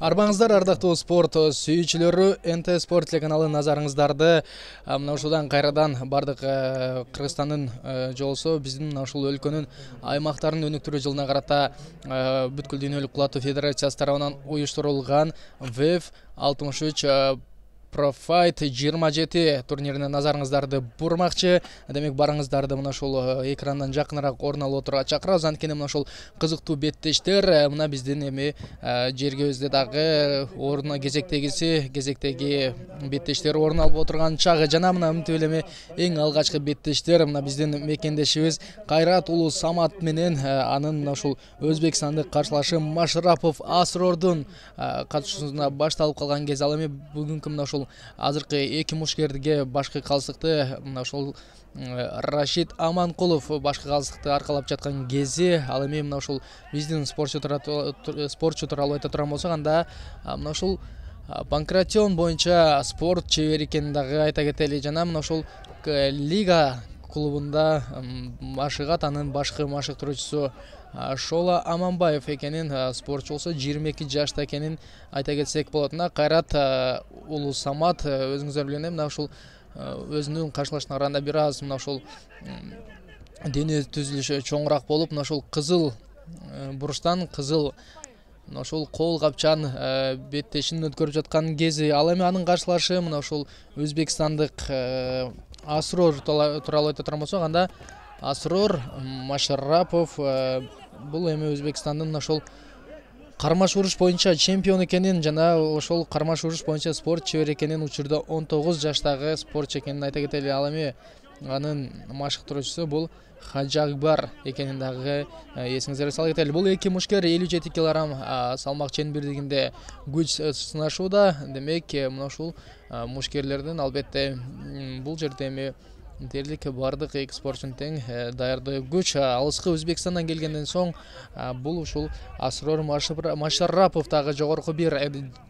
Арбаңыздар ардактуу спорт сүйүүчүлөрү, НТ Спорт телеканалы назарыңыздарды мына ушудан кайрадан бардык Кыргызстандын жолсу биздин мына ушул өлкөнүн аймактарын өнүктүрүү жылына карата бүткүл дүйнөлүк кулаттуу федерациясы тарабынан уюштурулган ВЭФ 63 Профайт 27 турнирине назарыңыздарды бурмакчы. Демек барыңыздарды мына ушул экрандан жакыныраак орун алып отурууга чакырабыз. Анткени мына ушул кызыктуу беттештер мына биздин эми жергебизде дагы ордуна кезектеги беттештер орун алып отурган чагы жана мына мынтип эле эң алгачкы беттештер мына биздин мекендешибиз Кайрат уулу Самат менен анын мына ушул өзбекстандык каршылашы Машарапов Асрордун катышуусунда башталып калган кез. Ал эми бүгүнкү мына ушул азыркы эки мушкерге башкы калсыкты мына ушул Рашид Аманкулов башкы калсыкты аркалап жаткан кези. Ал эми мына ушул биздин спортчу тууралуу айта турган болсок, анда мына ушул Панкратион боюнча спорт чебери экенин дагы айта кетели. Жана мына ушул Лига клубунда машыгат, анын башкы машыктыруучусу Шола Аманбаев экенин, спортчу болсо 22 жашта экенин айта кетсек болот. Мына Кайрат уулу Самат өзүңүздөр билгендей мына ушул өзүнүн каршылашына караганда бир аз мына ушул дене түзүлүшү чоңураак болуп, мына ушул кызыл буруштан мына ушул кол капчан беттешин өткөрүп жаткан кези. Ал эми анын каршылашы мына ушул өзбекстандык Асрор тууралуу айта турган болсок, анда Асрор Машарапов бул эми Өзбекстандын мына ушул кармаш уруш боюнча чемпион экенин жана ошол кармаш уруш боюнча спорт чебери экенин, учурда 19 жаштагы спортчу экенин айта кетели. Ал эми анын машыктыруучусу бул Хаджакбар экенин дагы эсиңизге сала кетели. Бул эки мушкер 57 кг салмак ченбирлигинде күч сынашууда. Демек мына ушул мушкерлердин албетте бул жерде эми дерлик бардык эки спортчунун тең даярдыгы күч. Алыскы Өзбекстандан келгенден соң бул ушул Асрор Машарапов дагы жогорку бир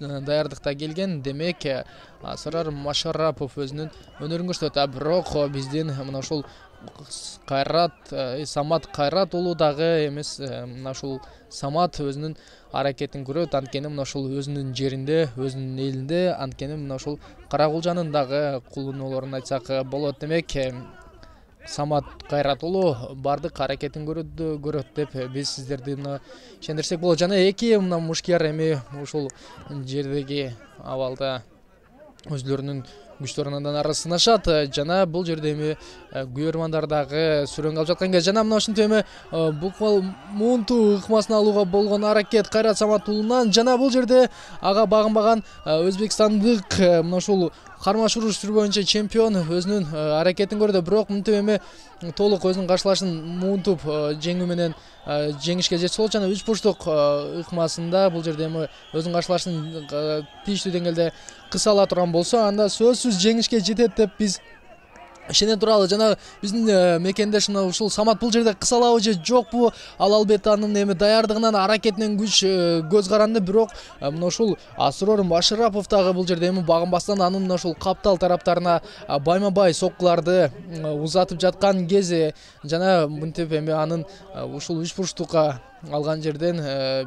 даярдыкта келген. Демек Асрор Машарапов өзүнүн өнөрүн көрсөтөт. Бирок биздин мына ушул Самат Кайрат уулу дагы эмес, мына ушул Самат өзүнүн аракетин көрөт. Анткени мына ушул өзүнүн жеринде, өзүнүн элинде, анткени мына ушул Карагулжанын дагы кулунулорун айтсак болот. Демек Самат Кайрат уулу бардык аракетин көрөт деп биз сиздерди мына ишендирсек болот. Жана эки мына мушкер эми ушул жердеги абалда өзлөрүнүн күчтөрүн андан ары сынашат. Жана бул жерде эми күйөрмандар дагы сүрөнгө алып жаткан кез. Жана мына ушинтип эми буквал муунту ыкмасын алууга болгон аракет Кайрат Самат уулунан. Жана бул жерде ага багынбаган өзбекстандык мына ушул кармаш уруш түрү боюнча чемпион өзүнүн аракетин көрдү. Бирок мынтип эми толук өзүнүн каршылашын муунтуп жеңүү менен жеңишке жетсе болот. Жана 3 бурчтук ыкмасында бул жерде эми өзүнүн каршылашын тийиштүү деңгээлде кысала турган болсо, анда сөзсүз жеңишке жетет деп биз ишене туралы. Жана биздин мекендеш мына ушул Самат бул жерде кысалабы же жокпу, ал албетте анын эми даярдыгынан, аракетинен күч көз каранды. Бирок мына ушул Асрор Машарапов дагы бул жерде эми багынбастан анын мына ушул каптал тараптарына байма-бай соккуларды узатып жаткан кези. Жана мынтип эми анын ушул 3 бурчтукка алган жерден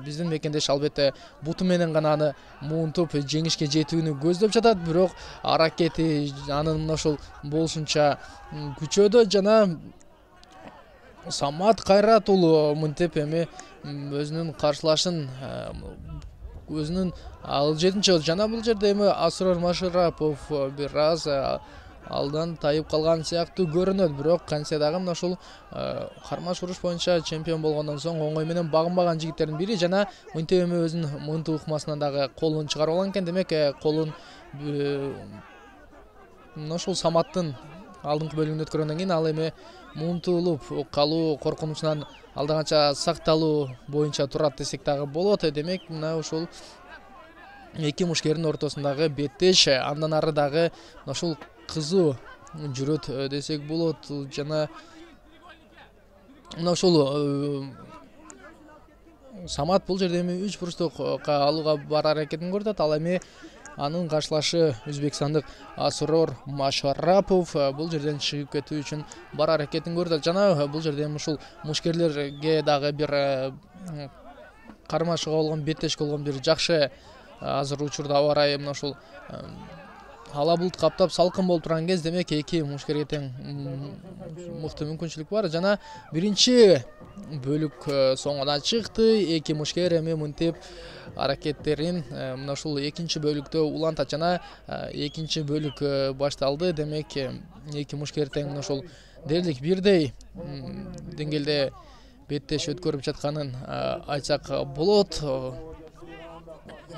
биздин мекендеш албетте буту менен гана аны муунтуп жеңишке жетүүнү көздөп жатат. Бирок аракети анын мына ушул болушунча күчөдө. Жана Самат Кайрат уулу мынтип эми өзүнүн каршылашын өзүнүн ал 7-чы. Жана бул жерде эми Асрор Машарапов бир аз алдан тайып калган сыяктуу көрүнөт. Бирок кантсе дагы мына ушул кармаш уруш боюнча чемпион болгондон соң оңой менен багынбаган жигиттердин бири. Жана мынтип эми өзүнүн муунту ыкмасынан дагы колун чыгарып алган экен. Демек колун мына ушул Саматтын алдыңкы бөлүгүндө өткөргөндөн кийин ал эми муунтулуп калуу коркунучунан алда канча сакталуу боюнча турат десек дагы болот. Демек мына ушул эки мушкердин ортосундагы беттеш андан ары дагы мына ушул кызуу жүрөт десек болот. Жана мына ушул Самат бул жерде эми 3 бурчтукка алууга бар аракетин көрсөтөт. Ал эми анын каршылашы өзбекстандык Асрор Машарапов бул жерден чыгып кетүү үчүн бар аракетин көрсөтөт. Жана бул жерде ушул мушкерлерге дагы бир кармашууга болгон беттешке болгон бир жакшы азыр учурда аба ырайы мына ушул ала булут каптап салкын болуп турган кез, демек эки мушкерге тең мыкты мүмкүнчүлүк бар. Жана биринчи бөлүк соңуна чыкты. Эки мушкер эми мынтип аракеттерин мына ушул экинчи бөлүктө улантат. Жана экинчи бөлүк башталды. Демек эки мушкер тең мына ушул дээрлик бирдей деңгээлде беттеш өткөрүп жатканын айтсак болот.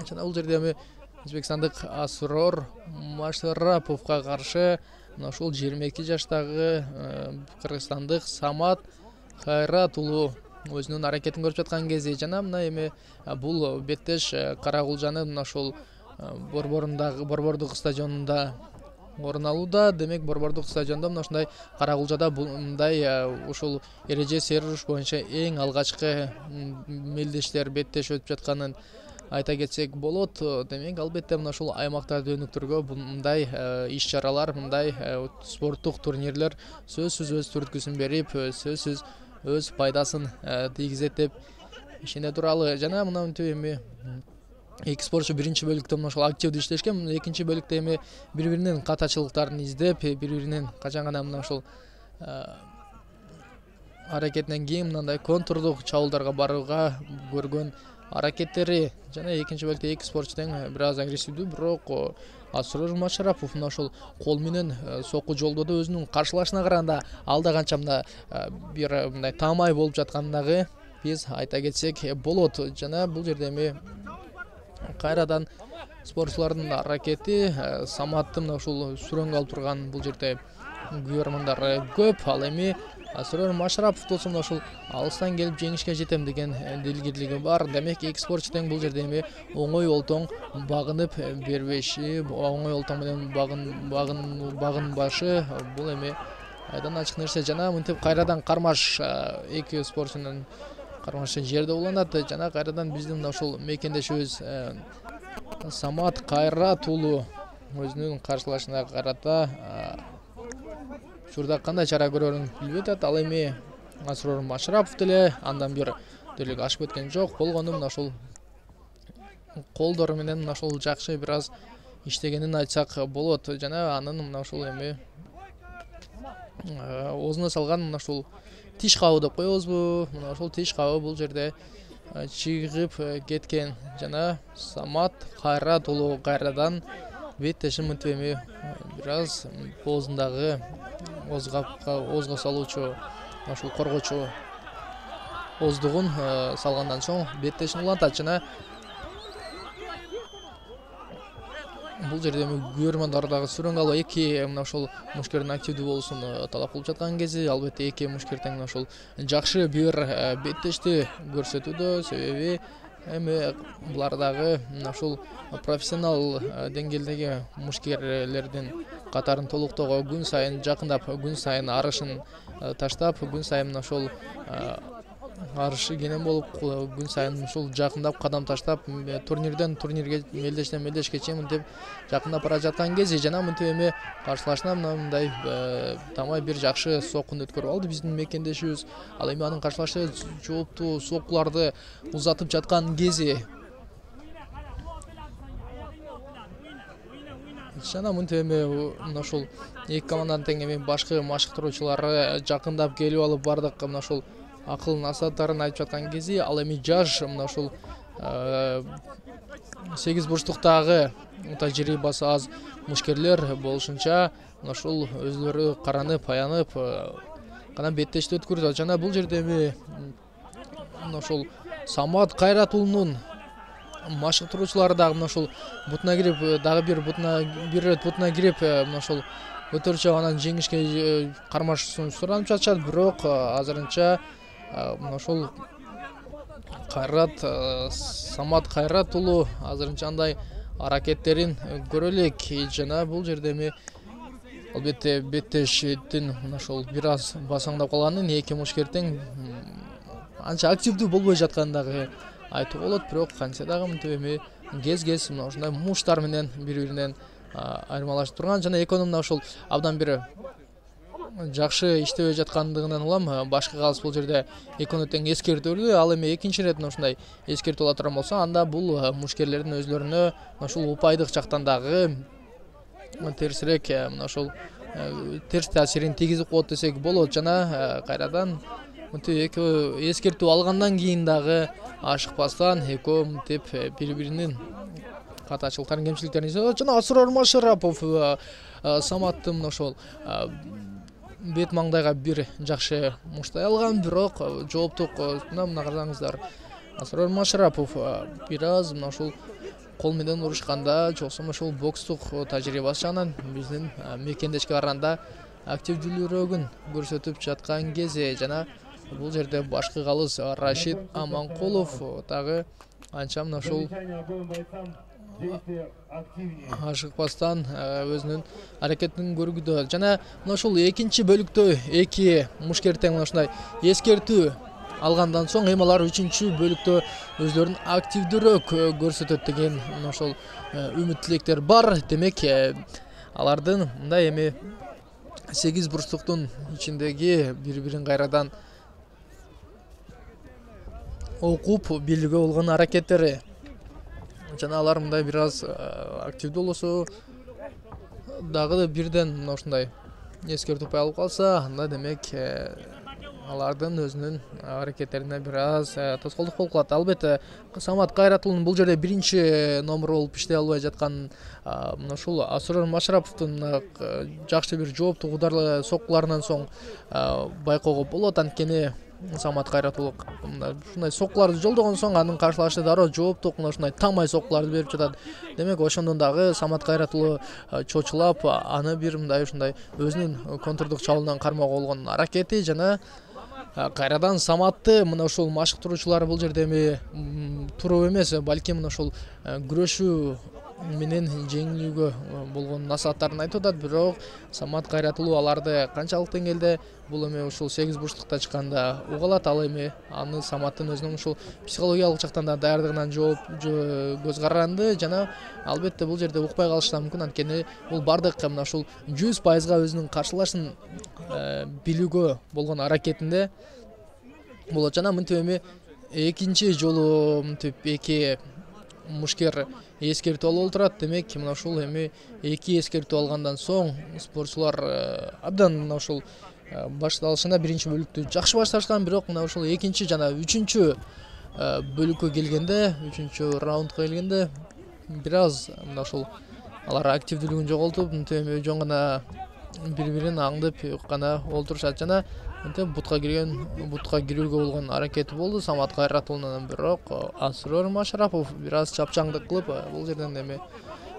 Жана бул жерде эми өзбекстандык Асрор Машараповго каршы мына ушул 22 жаштагы кыргызстандык Самат Кайрат уулу өзүнүн аракетин көрүп жаткан кези. Жана мына эми бул беттеш Каракулжанын мына ушул Борбордук стадионунда орун алууда. Демек Борбордук стадиондо мына ушундай Каракулжада мындай ушул эреже серуш боюнча эң алгачкы мелдештер беттеш өтүп жатканын айта кетсек болот. Демек албетте мына ушул аймактарды өнүктүрүүгө мындай иш-чаралар, мындай спорттук турнирлер сөзсүз өз түрткүсүн берип, сөзсүз өз пайдасын тийгизет деп ишене туралы. Жана мына мынтип эми эки спортчу биринчи бөлүктө мына ушул активдүү иштешкен. Экинчи бөлүктө эми бири-биринин катачылыктарын издеп, бири-биринин качан гана мына ушул аракетинен кийин мындай контурдук чабуулдарга барууга көргөн аракеттери. Жана экинчи бөлүктө эки спортчу тең бир аз агрессивдүү, бирок Асрор Машарапов мына ушул кол менен сокку жолдоодо өзүнүн каршылашына караганда алда канча мына бир мындай таамай болуп жатканын дагы биз айта кетсек болот. Жана бул жерде эми кайрадан спортчулардын аракети Саматтын мына ушул сүрөнгө алып турган бул жерде күйөрмандары көп. Ал эми Асрор Машарапов болсо мына ушул алыстан келип жеңишке жетем деген дилгирлиги бар. Демек эки спортчу тең бул жерде эми оңой олтоң багынып бербеши, оңой олтоң менен багынбашы бул эми айдан ачык нерсе. Жана мынтип кайрадан кармаш эки спортчунун кармашы жерде уланат. Жана кайрадан биздин мына ушул мекендешибиз Самат Кайрат уулу өзүнүн каршылашына карата учурда кандай чара көрөрүн билбей атат. Ал эми Асрор Машарапов деле андан бир дерлик ашып өткөн жок. Болгону мына ушул колдору менен мына ушул жакшы бир аз иштегенин айтсак болот. Жана анын мына ушул эми оозуна салган мына ушул тиш кабы деп коебузбу, мына ушул тиш кабы бул жерде чыгып кеткен. Жана Самат Кайрат уулу кайрадан беттешин мынтип эми бир аз оозундагы оозго салуучу ушул коргоочу ооздугун салгандан соң беттешин улантат. Жана бул жерде эми күйөрмандар дагы сүрөнгө алуу эки мына ушул мушкердин активдүү болуусун талап кылып жаткан кези. Албетте эки мушкер тең мына ушул жакшы бир беттешти көрсөтүүдө. Себеби эми булар дагы мына ушул профессионал деңгээлдеги мушкерлердин катарын толуктоого күн сайын жакындап, күн сайын арышын таштап, күн сайын мына ушул арышы кенен болуп, күн сайын ушул жакындап, кадам таштап, турнирден турнирге, мелдештен мелдешке чейин мынтип жакындап бара жаткан кези. Жана мынтип эми каршылашына мындай тамай бир жакшы соккун өткөрүп алды биздин мекендешибиз. Ал эми анын каршылашы жооптуу соккуларды узатып жаткан кези. Жана мынтип эми мына ушул эки команданын тең эми башкы машыктыруучулары жакындап келип алып бардык мына ушул акыл насааттарын айтып жаткан кези. Ал эми жаш мына ушул 8 бурчтуктагы тажрыйбасы аз мушкерлер болушунча мына ушул өзлөрү каранып, аянып гана беттешти өткөрүп. Жана бул жерде эми мына ушул Самат Кайрат уулунун машыктыруучулары дагы мына ушул бутуна кирип, дагы бир рет бутуна кирип мына ушул өтөрчү анан жеңишке кармашууну суранып жатышат. Бирок азырынча мына ушул Самат Кайрат уулу азырынча андай аракеттерин көрө элек. Жана бул жерде эми албетте беттештин мына ушул бир аз басаңдап калганын, эки мушкер тең анча активдүү болбой жатканын дагы айтууга болот. Бирок кантсе дагы мынтип эми кез мына ушундай муштар менен бири-биринен айырмалашып турган. Жана экөөнүн мына ушул абдан бир жакшы иштебей жаткандыгынан улам башкы калыс бул жерде экөөнө тең эскертүүдө. Ал эми экинчи ирет ушундай эскертүү ала турган болсо, анда бул мушкерлердин өзлөрүнө ушул упайдык жактан дагы терсирээк ушул терс таасирин тийгизип коет десек болот. Жана кайрадан мынтип экөө эскертүү алгандан кийин дагы ашыкпастан экөө мынтип бири-биринин катачылыктарын, кемчиликтерин издөт. Жана Асрор Машарапов Саматтын ошол бет маңдайга бир жакшы муштай алган, бирок жооптук мына карасаңыздар, Асрор Машарапов бир аз ушул кол менен урушканда, жоксо ошол бокстук тажрыйбасы жагынан биздин мекендешке караганда активдүүлөрүгүн көрсөтүп жаткан кези. Жана бул жерде башкы калыс Рашид Аманкулов дагы анча ушул ашыкпастан өзүнүн аракетин көргүдө. Жана ушул экинчи бөлүктө эки мушкер тең ушундай эскертүү алгандан соң эми алар үчүнчү бөлүктө өзлөрүн активдүүрөөк көрсөтөт деген ошол үмүт тилектер бар. Демек алардын мындай эми 8 бурчтуктун ичиндеги бири-бирин кайрадан окуп билүүгө болгон аракеттери, жана алар мындай бир аз активдүү болсо дагы бирден ушундай эскертүү алып калса, анда демек алардын өзүнүн аракеттерине бир аз тоскоолдук болуп калат. Албетте Самат Кайратулунун бул жерде биринчи номер болуп иштей албай жаткан ушул Асрор Машараповдун жакшы бир жооптук ударлы соккуларынан соң байкоого болот. Анткени Самат Кайратулов ушундай соккуларды жолдогон соң анын каршылашы дароо жооптук ушундай тамай соккуларды берип жатат. Демек ошондон дагы Самат Кайратулов чочулап аны бир мындай ушундай өзүнүн контрдук чабуулунан кармоого болгон аракети, жана кайрадан Саматты мына ушул машыктыруучулар бул жерде эми туруп эмес, балким мына ушул күрөшүү менен жеңилүүгө болгон насааттарын айтып атат. Бирок Самат Кайратулов аларды канчалык деңгээлде бул эми ушул 8 бурчтукта чыкканда уга алат. Ал эми аны Саматтын өзүнүн ушул психологиялык жактан да даярдыгынан көз каранды. Жана албетте бул жерде укпай калышы да мүмкүн, анткени бул бардык мына ушул 100% өзүнүн каршылашын билүүгө болгон аракетинде болот. Жана мынтип эми экинчи жолу мынтип эки мушкер эскертүү алып турат. Демек мына ушул эми эки эскертүү алгандан соң спортчулар абдан мына ушул башталышында биринчи бөлүктү жакшы башташкан, бирок мына ушул экинчи жана үчүнчү бөлүккө келгенде, үчүнчү раундка келгенде бир аз мына ушул алар активдүүлүгүн жоготуп, мынтип эми жөн гана бири-бирин аңдып гана олтурушат. Жана мынтип бутка кирүүгө болгон аракети болду Самат Кайратулунун, бирок Асрор Машарапов бир аз чапчаңдык кылып бул жерден эми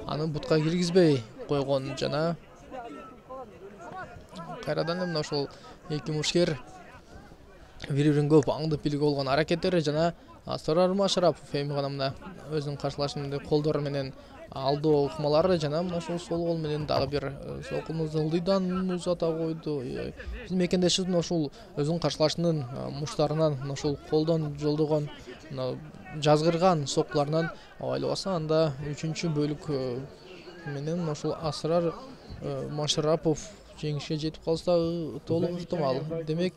аны бутка киргизбей койгон. Жана кайрадан мына ушул эки мушкер бири-бирин көп аңдып билүүгө болгон аракеттери, жана Асрор Машарапов эми гана мына өзүнүн каршылашын колдору менен алдоо ыкмалары, жана мына ушул сол кол менен дагы бир соккуну ылдыйдан узата койду. Биздин мекендешибиздин ушул өзүнүн каршылашынын муштарынан ушул колдон жолдогон жазгырган соккуларынан айлабаса, анда үчүнчү бөлүк менен ушул Асрор Машарапов жеңишке жетип калса толук ыктымал. Демек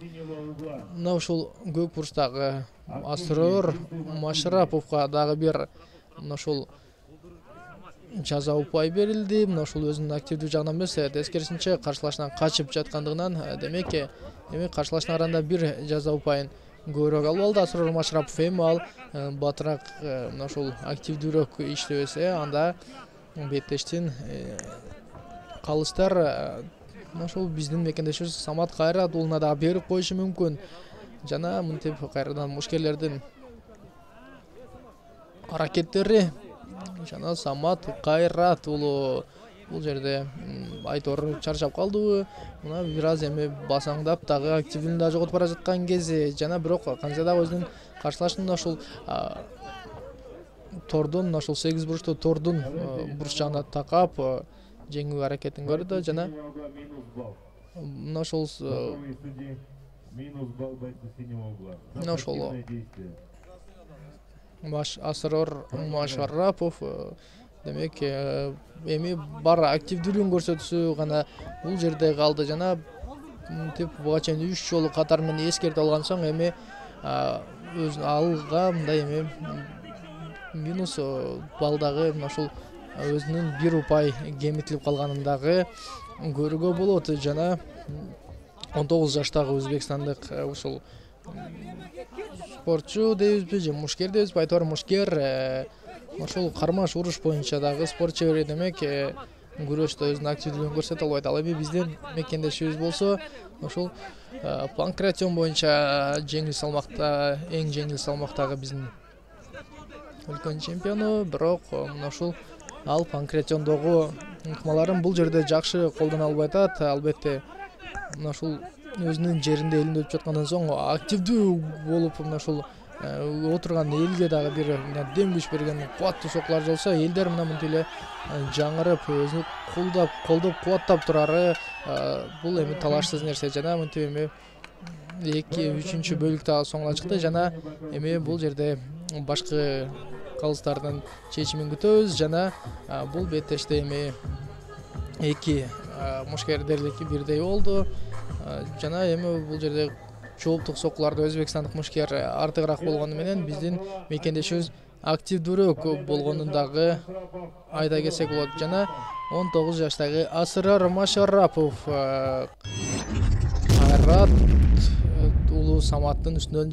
мына ушул көк бурчтагы Асрор Машараповго дагы бир мына ушул жаза упай берилди. Мына ушул өзүнүн активдүү жагынан эмес, тескерисинче каршылашынан качып жаткандыгынан, демек эми каршылашына караганда бир жаза упайын көбүрөөк алып алды Асрор Машарапов. Эми ал батыраак мына ушул активдүүрөөк иштебесе, анда беттештин калыстар мына ушул биздин мекендешибиз Самат Кайратулуна дагы берип коюшу мүмкүн. Жана мынтип кайрадан мушкерлердин аракеттери, жана Самат Кайратулу бул жерде айтор чарчап калдыбы, мына бир аз эми басаңдап дагы активдүүлүгүн да жоготуп бара жаткан кези. Жана бирок кантсе дагы өзүнүн каршылашын ушул тордун ушул 8 бурчтуу тордун бурч жагына такап жеңүү аракетин көрдү. Жана мына ушул Асрор Машарапов демек эми бар активдүүлүгүн көрсөтүүсү гана бул жерде калды. Жана мынтип буга чейин 3 жолу катар менен эскертип алган соң эми өз алга мындай эми минус балдагы мына ушул өзүнүн 1 упай кемитилип калганын дагы көрүүгө болот. Жана 19 жаштагы өзбекстандык ушул спортчу дейбизби же мушкер дейбизби, айтор мушкер ошол кармаш уруш боюнча дагы спорт чебери демек күрөштө өзүнүн активдүүлүгүн көрсөтө албайт. Ал эми биздин мекендешибиз болсо ошол панкратион боюнча жеңил салмакта, эң жеңил салмактагы биздин өлкөнүн чемпиону, бирок мына ушул ал панкратиондогу ыкмаларын бул жерде жакшы колдоно албай атат. Албетте мына ушул өзүнүн жеринде элинде өтүп жаткандан соң активдүү болуп мына ушул отурган элге дагы бир дем күч берген кубаттуу сокулар болсо, элдер мына мынтип эле жаңырып өзүн колдоп кубаттап турары бул эми талашсыз нерсе. Жана мынтип эми 2-3 бөлүк дагы соңуна чыкты. Жана эми бул жерде башкы калыстардын чечимин күтөбүз. Жана бул беттеште эми 2 мушкер дерлик бирдей болду. Жана эми бул жерде жооптук сокуларда өзбекстандык мушкер артыгыраак болгону менен биздин мекендешибиз активдүүрөөк болгонун дагы айта кетсек болот. Жана 19 жаштагы Асырар Машарапов Айрат уулу Саматтын үстүнөн